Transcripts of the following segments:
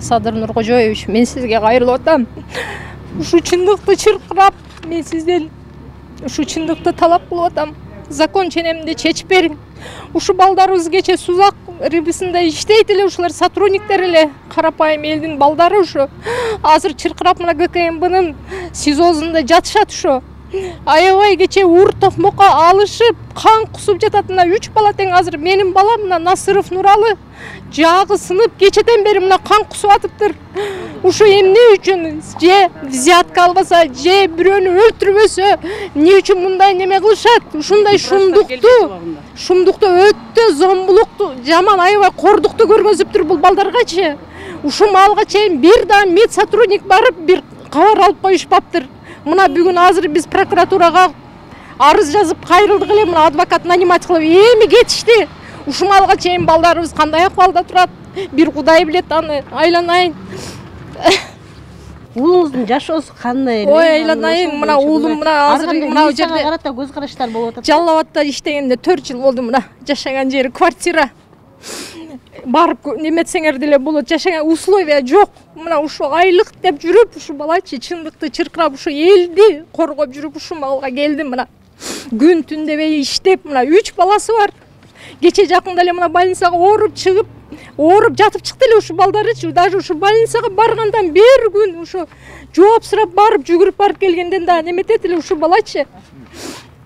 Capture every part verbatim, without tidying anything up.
Садыр Нуркожоевич, мен сизге кайрылып атам. Ушу чындыкты чыркырап, мен сизден ушу чындыкты талап кылып атам. Закон ченеминде чечип бериң. Ушу балдарыбыз кече Сузак рыбысында иштейт эле, ушулар сотрудниктер эле, карапайым элдин балдары ушу. Азыр чыркырап мына ГКМБнын СИЗОсунда жатышат ушу. Аябай кече ур токмокко алышып, кан кусуп жатат. Мына үч бала тең азыр менин балам мына Насыров Нуралы жагы сынып кечеден бери мына кан кусуп атыптыр. Ушу эмне үчүн же взятка албаса, же бирөөнү өлтүрбөсө, эмне үчүн мындай неме кылышат? Ушундай шумдукту, шумдукту өтө зомбулукту, жаман аябай кордукту көргөзүптүр бул балдаргачы. Ушу маалга чейин бир да мед сотрудник барып бир кабар алып коюшпаптыр. Мына бүгүн азыр биз прокуратурага арыз жазып кайрылдык эле, мына адвокат нанимать кылып эми кетишти. Ушу маалга чейин балдарыбыз кандай акыбалда турат? Бир Кудай билет аны. Айланайын. Уулуңуздун жашоосу кандай эле? Ой, айланайын, мына уулум мына азыр мына жерде карата көз караштар болуп атат. Жалал Абадта иштегенде төрт жыл болду, мына жашаган жери квартира. Барып неметсеңер деле болот, жашаган условия жок. Мына ушу айлык деп жүрүп, ушу балачы чындыкты чыркырап, ушу элди коргоп жүрүп ушу малга келдим. Мына күн түн дебей иштеп, мына үч баласы бар. Кече жакында эле мына больницага ооруп чыгып, ооруп жатып чыкты эле ушу балдарычы. Даже ушу больницага баргандан бир күн ушу жооп сурап барып, жүгүрүп барып келгенден да неметет эле ушу балачы.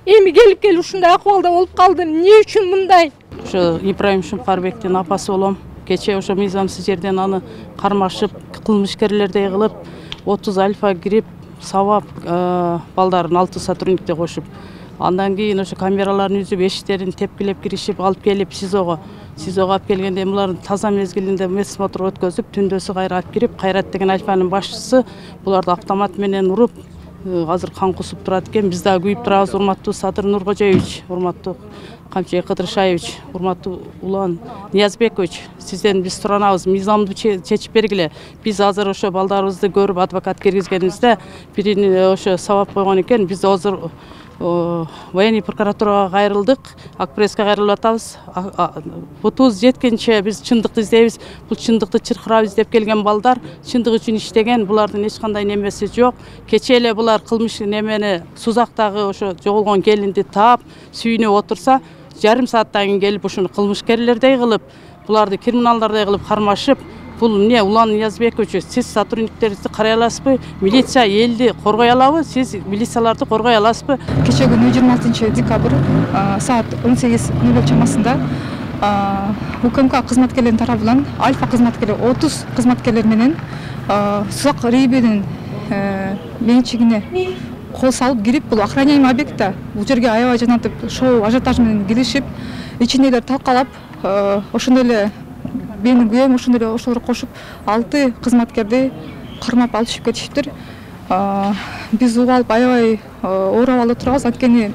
Эми келип келип ушундай акыбалда болуп калдым. Эмне үчүн мындай? Ошо Ибраим Шумкарбектин апасы болом. Кече ошо мыйзамсыз жерден аны кармашып, кылмышкерлердей кылып, отуз альфа кирип, сабап балдарын алты сотрудникти кошуп. Андан кийин ошо камераларын үзүп, эшиктерин тепкилеп киришип, алып келип СИЗОго. СИЗОго алып келгенде булардын таза мезгилинде медосмотр өткөзүп, түндөсү кайра алып кирип, Кайрат деген альфанын башчысы буларды автомат менен уруп, азыр кан кусуп турат экен. Биз дагы күйүп турабыз, урматтуу Садыр Нуркожоевич, урматтуу Камчыбек Кыдыршаевич, урматтуу Улан Ниязбекович, сизден биз суранабыз, мыйзамды чечип бергиле. Биз азыр ошо балдарыбызды көрүп адвокат киргизгенибизде бирини ошо сабап койгон экен. Биз азыр военный прокуратурага кайрылдык, Акпресске кайрылып атабыз. Бутубуз жеткенче биз чындыкты издейбиз. Бул чындыкты чыркырап издеп келген балдар чындык үчүн иштеген, булардын эч кандай немеси жок. Кече эле булар кылмыш немени Сузактагы ошо жоголгон келинди таап, сүйүнүп отурса, жарым сааттан кийин келип ушуну кылмышкерлердей кылып, буларды криминалдардей кылып кармашып, бул эмне? Улан Ниязбекович, сиз сотрудниктериңизди карай аласызбы? Милиция элди коргой алабы? Сиз милицияларды коргой аласызбы? Кече күнү жыйырма алтынчы декабрь саат он сегиз ноль ноль чамасында УКМК кызматкерлеринин тарабынан Альфа кызматкери отуз кызматкерлер менен Сузак рейбинин менчигине кол салып кирип, бул охраняемый объектта бул жерге аябай жанатып, шоу ажиотаж менен киришип, ичиндегилер талкалап, ошондой эле менин күйөөм ошондой эле ошолор кошуп алты кызматкерди кармап алышып кетишиптир. Биз угуп алып аябай ооруп алып турабыз, анткени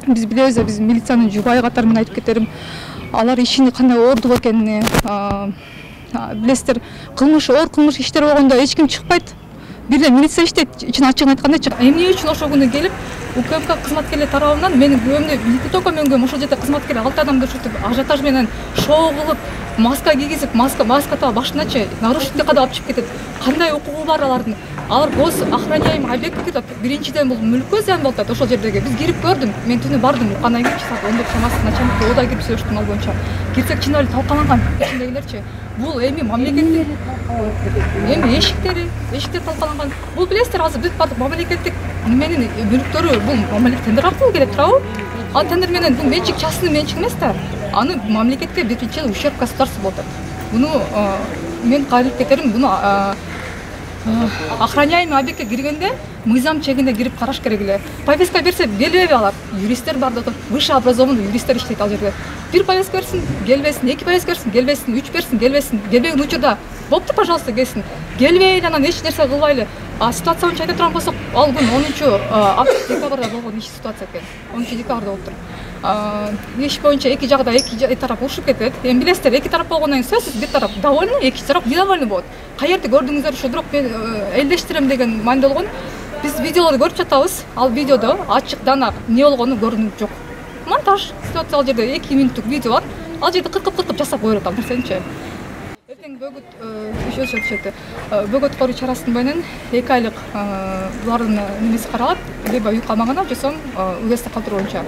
биз билебиз, биз милициянын жубайы катары менен айтып кетерим, алар ишини кандай оордук экенин билесиздер. Кылмыш, оор кылмыш иштер болгондо эч ким чыкпайт. Бир эле милиция иштейт, ичин ачыгын айтканда. Эмне үчүн ошол күнү келип УКМК кызматкерлери тарабынан менин күйөөмдү, не только менин күйөөм, ошол жерде кызматкер алты адамды ушинтип ажиотаж менен шоу кылып, маска кийгизип, маска маска таап башыначы нарушитель кадап алып чыгып кетет. Кандай укугу бар алардын? Алар гос охраняемый объект кирет. Биринчиден бул мүлккө зыян болуп атат ошол жердеги. Биз кирип көрдүм. Мен түнү бардым. Кандай кийчи саат он төрт чамасында начальник ода кирип сөйлөштүм ал боюнча. Кирсек чын эле талкаланган ичиндегилерчи. Бул эми мамлекеттик эми эшиктери, эшиктер талкаланган. Бул билесиздер, азыр бүт бардык мамлекеттик неменин мүлктөрү бул мамлекет тендер аркылуу келет турабы? Ал тендер менен бул менчик частный менчик эмес да. Аны мамлекетке биринчи ущерб государству болот. Буну мен кайрылып кетерим, буну охраняемый объектке киргенде мыйзам чегинде кирип караш керек эле. Повестка берсе келбейби алар? Юристтер бар да, высший образованный юристтер иштейт ал жерде. Бир повестка берсин, келбесин, эки повестка берсин, келбесин, үч берсин, келбесин, келбеген учурда болупту, пожалуйста, келсин. Келбей анан эч нерсе кылбайлы. А ситуация боюнча айта турган болсок, ал күн онунчу декабрда болгон иш ситуация экен. онунчу декабрда болуптур. Иш боюнча эки жагда эки тарап урушуп кетет. Эми билесиздер, эки тарап болгондон кийин сөзсүз бир тарап довольный, экинчи тарап недовольный болот. Каерде көрдүңүздөр ушу, бирок мен элдештирем деген мааниде болгон. Биз видеолорду көрүп жатабыз. Ал видеодо ачык дана эмне болгону көрүнүп жок. Монтаж ситуация, ал жерде эки мүнөттүк видео бар. Ал жерде кыркып-кыркып жасап коюп атат нерсеничи. тең бөгөт еще өтүшөт. Бөгөт коруу чарасы менен эки айлык булардын немеси каралат, либо үй камагына, же сом уездде калтыруу боюнча.